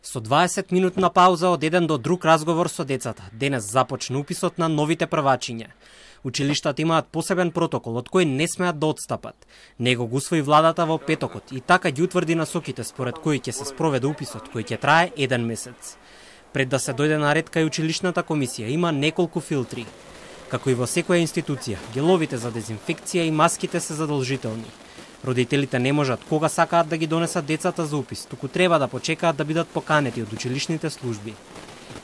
Со 20-минутна пауза од еден до друг разговор со децата, денес започна уписот на новите првачиња. Училиштата имаат посебен протокол од кој не смеат да отстапат. Него го усвои владата во петокот и така ги утврди насоките според кои ќе се спроведе уписот, кој ќе трае 1 месец. Пред да се дојде на ред кај училишната комисија има неколку филтри. Како и во секоја институција, геловите за дезинфекција и маските се задолжителни. Родителите не можат кога сакаат да ги донесат децата за упис, туку треба да почекаат да бидат поканети од училишните служби.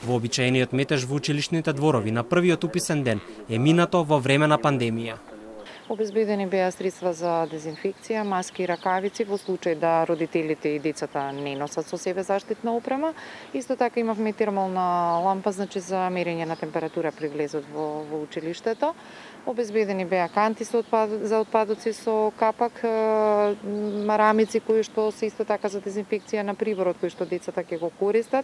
Вообичаениот метеж во училишните дворови на првиот уписен ден е минато во време на пандемија. Обезбедени беа средства за дезинфекција, маски и ракавици во случај да родителите и децата не носат со себе заштитна опрема. Исто така имавме термална лампа, значи за мерење на температура при влезот во училиштето. Обезбедени беа канти за отпадоци со капак, марамици кои што се исто така за дезинфекција на приборот кој што децата ќе го користат.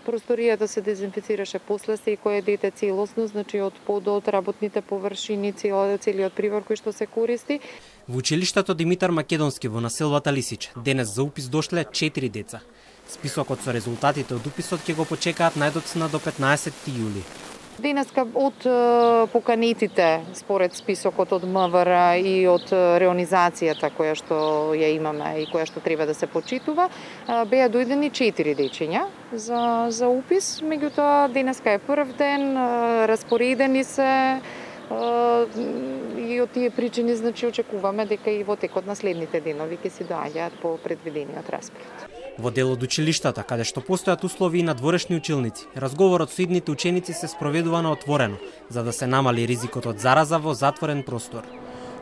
Просторијата се дезинфицираше после секое дете целосно, значи од подот, работните површини, целиот прибор кој што се користи. Во училиштето Димитар Македонски во населбата Лисич денес за упис дошле 4 деца. Списокот со резултатите од уписот ќе го почекаат најдоцна до 15 јули. Денеска од поканетите според списокот од МВР и од реонизацијата која што ја имаме и која што треба да се почитува, беа дојдени 4 дечиња за упис, меѓутоа денеска е прв ден, распоредени се и од тие причини значи очекуваме дека и во текот на следните денови ќе се доаѓаат по предвидениот распоред. Во дел од училиштата, каде што постојат услови на дворешни училници, разговорот со идните ученици се спроведува на отворено, за да се намали ризикот од зараза во затворен простор.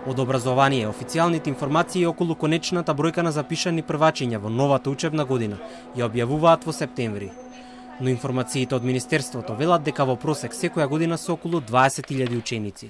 Од образование, официјалните информации околу конечната бројка на запишани првачиња во новата учебна година ја објавуваат во септември. Но информациите од Министерството велат дека во просек секоја година се околу 20.000 ученици.